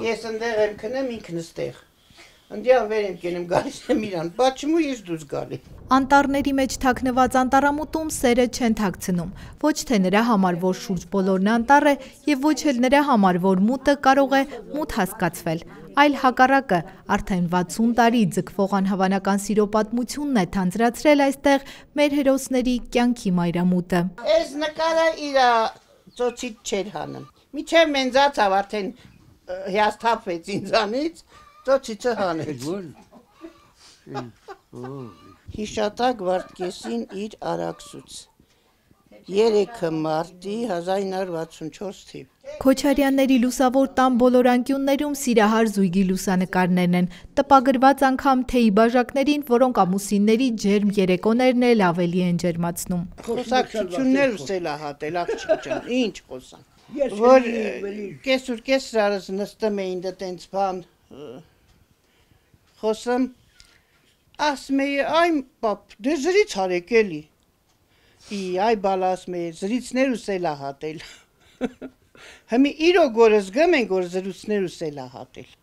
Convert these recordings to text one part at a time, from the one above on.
Ես ընդեղ եմ քնեմ, ինքն ստեղ։ Ընդյալ վեր եմ կենում, գալիս եմ իրան, բաչմու ես դուս գալի։ Անտառների մեջ թաքնված անտառամուտում սերը չեն թաքցնում, ոչ թե նրա համար, որ շուրջ բոլորն անտառ է, եւ ոչ էլ նրա համար, որ մուտը կարող է մութ հասկացվել, այլ հակառակը, արդեն 60 տարի ձգվող անհավանական սիրո պատմությունն է թանձրացրել այստեղ մեր հերոսների կյանքի մայրամուտը։ Այս նկարը իրա ծոցից չեր հանում։ Միջև մենզացավ արդեն հիասթափվեց ինձանից, ծոցիցը հանեց։ Հիշատակ Վարդգեսին իր արաքսուց 3 մարտի 1964 թիվ։ Քոչարյանների լուսավոր տան բոլոր անկյուններում սիրահար զույգի լուսանկարներն են, տպագրված անգամ թեյի բաժակներին, որոնք ամուսինների ջերմ երեկոներն էլ ավելի են ջերմացնում։ Խոսակցություններ ուսելահատել, աղջիկ ջան, ինչ խոսան։ Որ կեսուր կեսրարս նստում էին դա տենց բան խոսում, ասում էի, այ պապ, դե զրից հարեք էլի։ Այ բալ ասում էի, զրիցներ ուսելահատել։ Հիմի իրոք որ զգում ենք, որ զրուցներ ուսելահատել։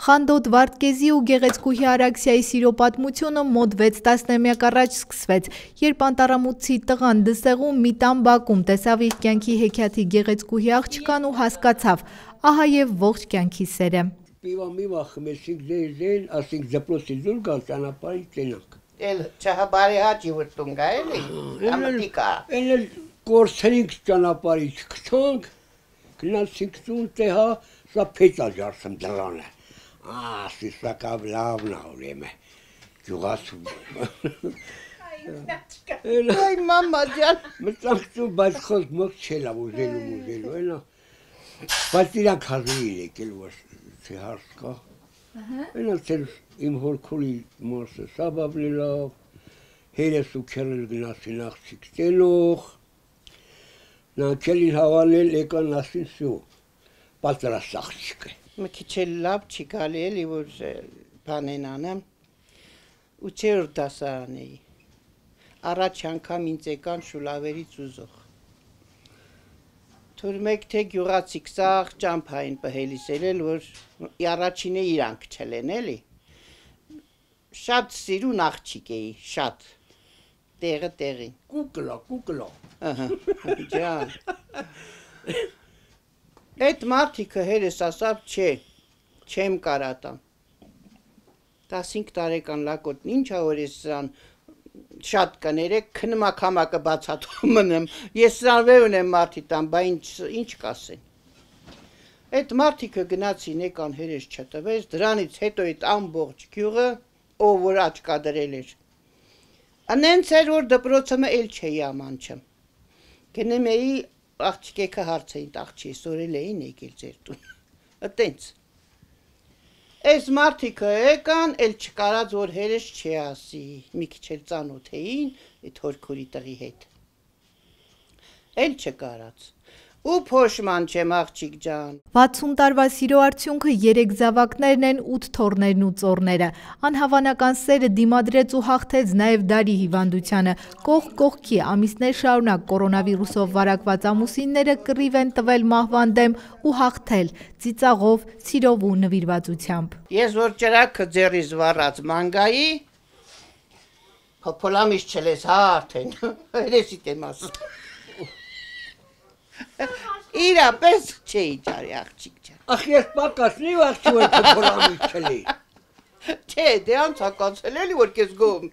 Խանդոտ Վարդգեզի ու Գեղեցկուհի Արաքսիայի սիրո պատմությունը մոտ 6 տասնամյակ առաջ սկսվեց, երբ անտառամուտցի տղան Դսեղում մի տան բակում տեսավ իր կյանքի հեքիաթի Գեղեցկուհի աղջկան ու հասկացավ, ահա եւ ողջ կյանքի սերը։ Միվա խմեցինք դեր, ասենք դպրոցի դուր գալ ճանապարհի տենանք։ Էլ չհաբարի հաճի վրտուն գա էլի, ամտիկա։ Էլ կորցրինք ճանապարհի չգտանք, գնացինք տուն տեհա, սա փետա ջարսեմ դրանը։ Սիսակավ լավն ուրեմն գյուղացու։ Այ մամա ջան, մտածում բայց խոսք մոք չելա ուզելու, այնա։ Բայց իրանք հազիվ եկել որ հարց կա։ Այնա ցեր իմ հորքորի մասը սաբաբլելով, հերես ու քերել գնացին աղջիկ տելով։ Նա քելին հավանել եկան ասին սու, պատրաստ աղջիկ է։ Մի քիչ էլ լավ չի գալի էլի որ բանեն անեմ ու չորրորդ դասարան էի առաջ անգամ ինձ եկան շուլավերից ուզող թուրմեք թե գյուղացիք սաղ ճամփային պհելիսել որ առաջինը իրանք չելեն էլի շատ սիրուն աղջիկ էի շատ տեղը տեղին կուկլա ահա ջան Այդ մարդիկը հերես ասավ չէ, չեմ կարատամ 15 տարեկան լակոտն ինչա որ ես սրան շատ կներեք քնմակամակը բացատում մնեմ ես սրան վեր ունեմ մարդի տան բա ինչ կասեն Այդ մարդիկը գնացին եկան հերես չտվեց դրանից հետո այդ ամբողջ գյուղը ով որ աչքա դրել էր անենց էր որ դպրոցը էլ չէի ամանչեմ գնում էի աղջիկը հարց էին աղջի սորել էին եկել ձեր տուն այտենց Այս մարդիկը եկան էլ չկարած որ հերես չի ասի մի քիչ էլ ծանոթ էին այդ հորքորի տղի հետ էլ չկարած ու փոշման չեմ աղջիկ ջան 60 տարվա սիրո արդյունքը 3 զավակներն են 8 թոռներն ու ծոռները անհավանական սերը դիմադրեց ու հաղթեց նաև դարի հիվանդությանը կողք կողքի ամիսներ շարունակ կորոնավիրուսով վարակված ամուսինները կռիվ են տվել մահվան դեմ ու հաղթել ծիծաղով սիրով ու նվիրվածությամբ Ես որ ճրակը ձեռիս վառած մանգայի փոփոլամից չլես հա արդեն հերեսիտ եմ ասում Իրապես չէի ճարի աղջիկ ջան Ախ ես պակասնի աղջի որ փոփոլամից չլի Չէ դե անցակացել էլի որ քեզ գոմ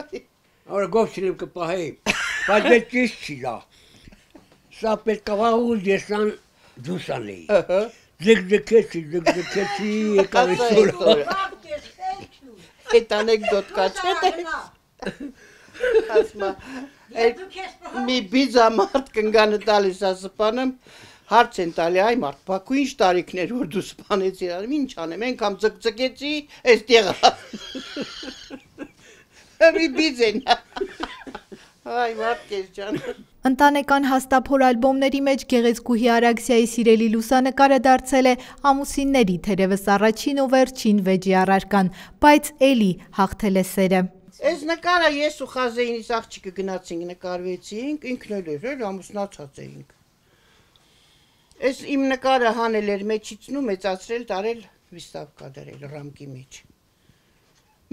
Արա գով չլեմ կպահեի բայց դե ճիշտ չի դա Սա պետք է վաղուց եսան դուսանեի Ձգձգեցի եկավ իսուր Այդ անեկդոտ կաչետ է Ասմա մի բիզա մարդ կնգանը տալիս ասպանեմ հարց են տալի այ մարդ բակու ինչ տարիքներ որ դու սպանեցիր ինչ անեմ ենքամ ձգձգեցի այս տեղը մի բիզ են այ մարդ կեզ ջան Ընտանեկան հաստափոր ալբոմների մեջ Գեղեցկուհի Արաքսիայի սիրելի լուսանկարը դարձել է ամուսինների թերևս առաջին ու վերջին վեճի առարկան, բայց էլի հաղթել է սերը։ Այս նկարը ես ու Խազեինիս աղջիկը գնացինք նկարվեցինք, ինքն էլ ամուսնացած էինք։ Այս իմ նկարը հանել էր մեջիցնու, մեծացրել, տարել վիստավկա դրել ռամկի մեջ։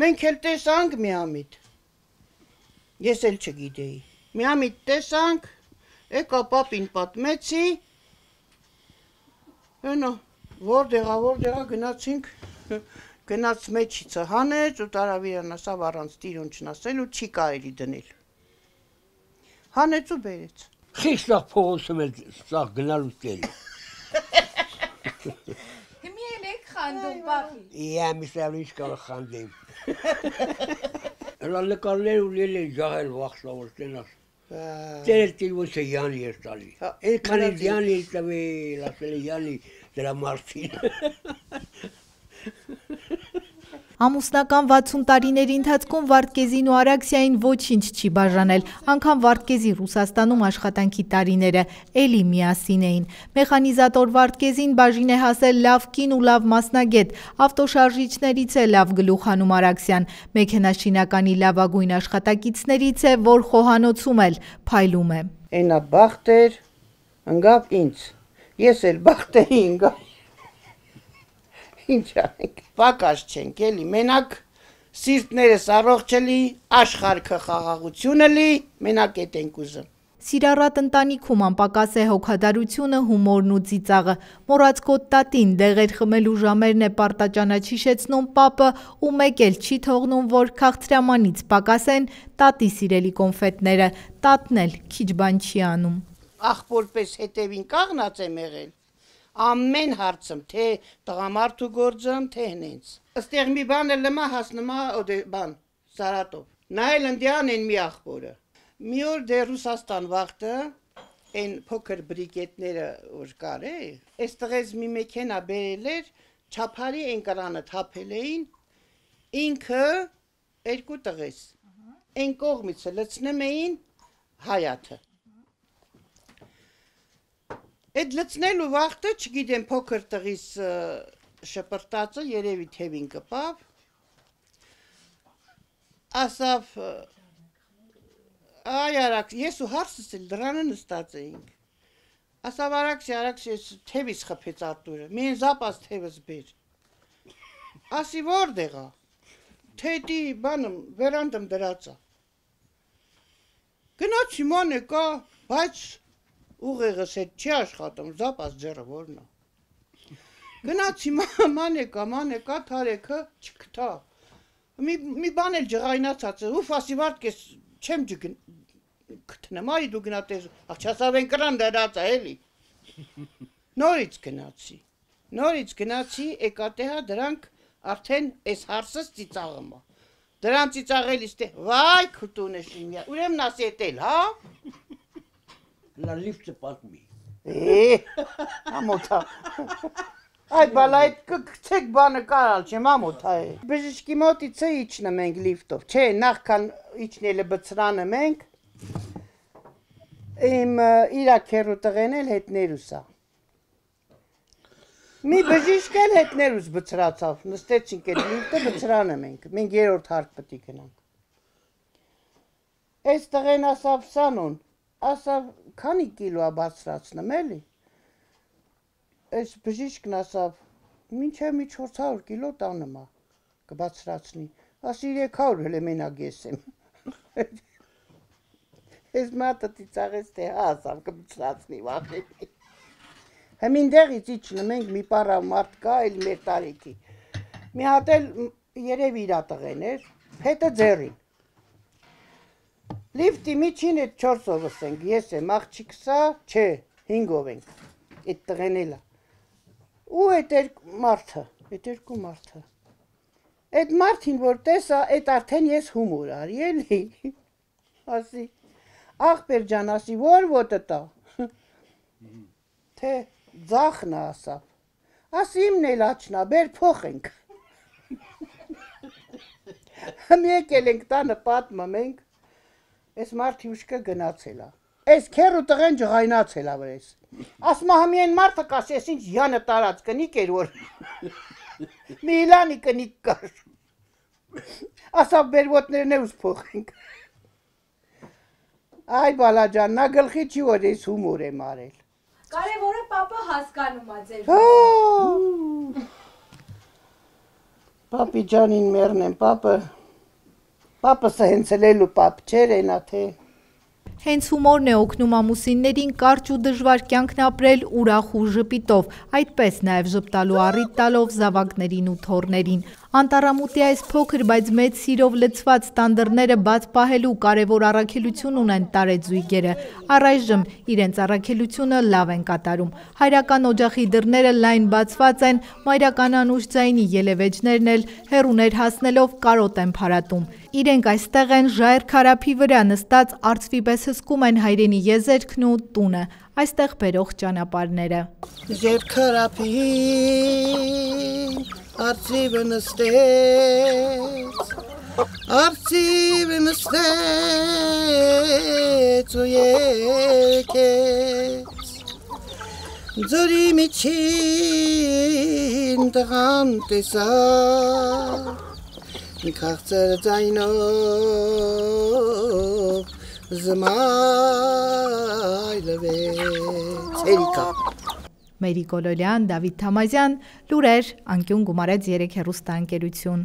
Մենք էլ տեսանք միամիտ։ Ես էլ չգիտեի։ Միամիտ տեսանք, եկա պապին պատմեցի։ Հենա, որտեղա գնացինք, գնաց մեջիցը հանեց ու տարավ իրան ասավ առանց տիրոն չնասելու չի կարելի դնել։ Հանեց ու բերեց։ Խիստախ փողոցում էլ սաղ գնալուց էլ։ Հիմի էլ եք խանդում, պապի։ Իմիսավ ինչ կարող խանդեմ։ Հələ նկարներ ու լել են ջահել վախշավոր տենաս։ Տերել տիլվոց է յանի էր տալի։ Էնքան էլ յանի էր տվել, ասել է յանի դրա մարդին։ Ամուսնական 60 տարիների ընթացքում Վարդգեզին ու Արաքսիային ոչինչ չի բաժանել, անգամ Վարդգեզի Ռուսաստանում աշխատանքի տարիները էլի միասին էին։ Մեխանիզատոր Վարդգեզին բաժին է հասել լավ կին ու լավ մասնագետ, ավտոշարժիչներից է լավ գլուխանում Արաքսիան, մեքենաշինականի լավագույն աշխատակիցներից է, որ խոհանոցում էլ փայլում է։ Էնա բախտեր, ընգավ ինձ, ես էլ բախտերի ընգավ։ Ինչ անենք, պակաս չենք էլի, մենակ սիրտներս առողջելի, աշխարհքը խաղաղությունը լի, մենակ էդ ենք ուզում։ Սիրառատ ընտանիքում անպակաս է հոգադարությունը, հումորն ու ծիծաղը։ Մոռացկոտ տատին դեղեր խմելու ժամերն է պարտաճանաչ հիշեցնում պապը ու մեկ էլ չի թողնում, որ քաղցրամանից պակասեն տատի սիրելի կոնֆետները, տատն էլ քիչ բան չի անում։ Աղբորպես հետևին կաղնած եմ եղել։ Ամեն հարցում, թե տղամարդու գործում, թե հնենց։ Աստեղ մի բան էլ լմա հասնմա բան, Սարատով։ Նա էլ ընդյան են մի աղբորը։ Մի օր դե Ռուսաստան վաղտը, են փոքր բրիկետները որ կար է, այս տղեզ մի մեքենա բերել էր, չափարի են կրանը թափել էին, ինքը երկու տղես, են կողմիցը լցնում էին հայաթը։ Այդ լցնելու վաղտը, չգիտեմ, փոքր տղիս շպրտածը երևի թևին կպավ, ասավ, այ Արաքս, ես ու հարսս էլ դրանը նստած էինք, ասավ Արաքս, թևիս խփեց Արտուրը, մեն զապաս թևս բեր, ասի որտեղա, թետի բանım, վերանդım դրածա, գնացի ման եկա, բայց ուղեղս հետ չի աշխատում, զապաս ձեռը որն է։ Գնացի մանեկա, թարեքը չկտա։ Մի բան էլ ջղայնացած է, ուֆ ասի Վարդգես, չեմ կտնեմ, արի դու գնատես, աղջասավ են կրան դրած է, էլի։ Նորից գնացի, եկատեհա դրանք արդեն այս հարսս ծիծաղում է։ Դրան ծիծաղելիս թե, վայ քուտուն է շիմյա, ուրեմն ասի էտ էլ, հա։ Լա լիֆտը պատմի։ Ամոթա։ Այդ բալա այդ կգցեք բանը կարալ չեմ ամոթա է։ Բժիշկի մոտիցը իջնում ենք լիֆտով, չէ, նախքան իջնելը բծրանը մենք, իմ իրաքերու տղեն էլ հետներուսա։ Մի բժիշկ էլ հետներուս բծրացավ, նստեցինք այդ լիֆտը բծրանը մենք երորդ հարկ պտի գնանք։ Այս տղեն ասավ սանոն, ասավ, քանի կիլո է բարձրացնում էլի, այս բժիշկն ասավ, մինչև մի 400 կիլո տանում է, կբարձրացնի, ասի 300 հել է մենակ ես եմ, ես մարդը ծիծաղեց թե հա ասավ կբարձրացնի վախենի, հմինդեղից իջնում ենք մի պարավ մարդ կա, էլ մեր տարիքի, մի հատ էլ երև իրա տղեն էր, հետը ձերին, լիվտի միջին էտ 4-ովս ենք, ես եմ, աղջիկսա, չէ, 5-ով ենք, էտ տղեն էլա, ու էտ երկու մարդը, էտ մարդին որ տեսա, էտ արդեն ես հումոր արի էլի, ասի, աղբեր ջան, ասի, որ ոտը տա, թե ձախնա ասավ, ասի իմն էլ աչնա, բեր փոխ ենք, հմ եկել ենք տանը պատմում ենք, Ես մարդի ուշկը գնացել է, ես քերու տղեն ջղայնացել է վրես, ասմա համի են մարդը կաս, ես ինչ յանը տարած կնիկ էր որ, մի իլանի կնիկ կար, ասավ բերվոտներն է ուսփոխենք։ Այ բալաջան, նա գլխի չի որ ես հումոր եմ արել։ Կարևորը պապը հասկանում է ձեր։ Պապի ջանին մերն եմ, պապս հենց լելու պապ չեր ենա թե։ Հենց հումորն է օգնում ամուսիններին կարճ ու դժվար կյանքն ապրել ուրախ ու ժպիտով, այդպես նաև ժպտալու առիթ տալով զավակներին ու թոռներին։ Անտառամուտի այս փոքր, բայց մեծ սիրով լցված տանդրները բաց պահելու կարևոր առաքելություն ունեն տարեձույգերը։ Առայժմ իրենց առաքելությունը լավ են կատարում։ Հայրական օջախի դռները լայն բացված են, մայրական անուշ ձայնի ելևէջներն էլ հեռուներ հասնելով կարոտ են փարատում։ Իրենք այստեղ են ժայռ քարափի վրա նստած արծվի պես հսկում են հայրենի եզերքն ու տունը, այստեղ բերող ճանապարհները։ Ժայռ քարափի արծիվը նստեց, արծիվը նստեց ու եկեց, ձորի միջին տղան տեսավ, քաղցր ձայնով զմայլվեց, հերիկա։ Մերի Կոլոլյան, Դավիթ Թամազյան, լուրեր, անկյուն գումարեց 3 հեռուստաընկերություն։